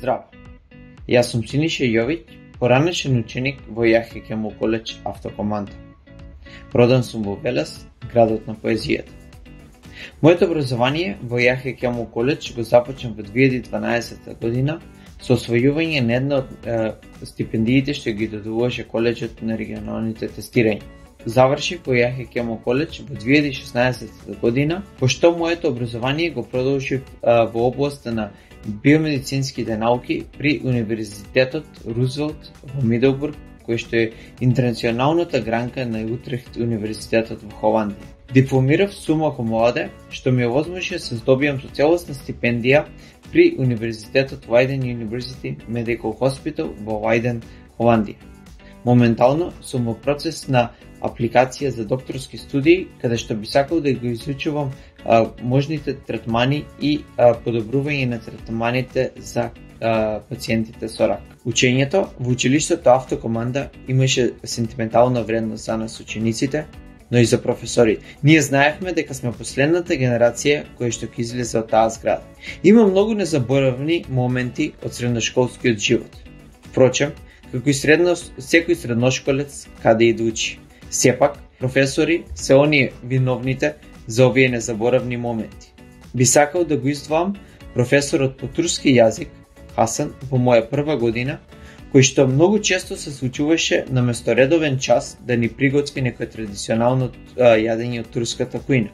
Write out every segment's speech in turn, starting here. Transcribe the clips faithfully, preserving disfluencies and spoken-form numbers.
здраво. Јас сум Синиша Јовиќ, поранешен ученик во Јахје Кемал коледж Автокоманда. Роден сум во Велес, градот на поезијата. Моето образование во Јахје Кемал коледж го започнав во две илјади и дванаесетта година со освојување на една од е, стипендиите што ги додуваше коледжот на регионалните тестирања. Завршив во Јахје Кемал коледж во две илјади и шеснаесетта година, пошто моето образование го продолжив е, во областа на биомедицинските науки при Универзитетот Рузвелт во Мидлбург, кој што е интернационалната гранка на Утрехт Универзитетот во Холандија. Дипломирав сума cum што ми овозможи да се здобијам со целосна стипендија при Универзитетот Leiden University Medical Hospital во Leiden, Холандија. Моментално сум во процес на апликација за докторски студии, каде што би сакал да го изучувам а, можните третмани и а, подобрување на третманите за а, пациентите со рак. Учењето во училиштето Автокоманда имаше сентиментална вредност за нас учениците, но и за професорите. Ние знаевме дека сме последната генерација која што ќе излезе од таа зграда. Има многу незаборавни моменти од средношколскиот живот. Впрочем, како и средно, секој средношколец каде и да учи. Сепак, професори се оние виновните за овие незаборавни моменти. Би сакал да го издвоам професорот по турски јазик, Хасан, во моја прва година, кој што многу често се случуваше на место редовен час да ни приготви некој традиционално а, јадење од турската кујна,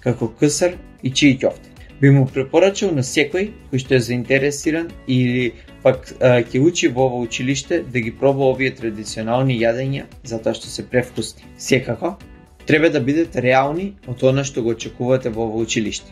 како ксар и чии ќофте. Би му препорачал на секој кој што е заинтересиран или пак а, ќе учи во ова училиште да ги проба овие традиционални јадења затоа што се превкусни. Секако, треба да бидете реални од она што го очекувате во ова училиште.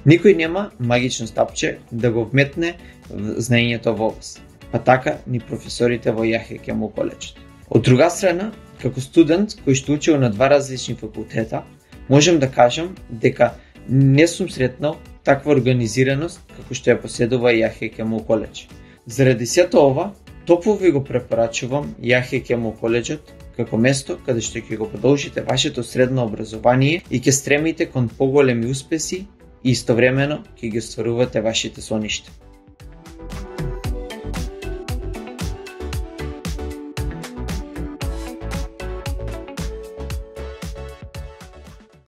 Никој нема магично стапче да го вметне знаењето во вас. Па така ни професорите во Јахје Кемал коледж. Од друга страна, како студент кој што учел на два различни факултета, можам да кажам дека не сум сретнал таква организираност како што ја поседува Јахје Кемал коледж. Заради сето ова, топло ви го препорачувам Јахје Кемал коледжот како место каде што ќе го продолжите вашето средно образование и ќе стремите кон поголеми успеси и истовремено ќе ги остварувате вашите соништа.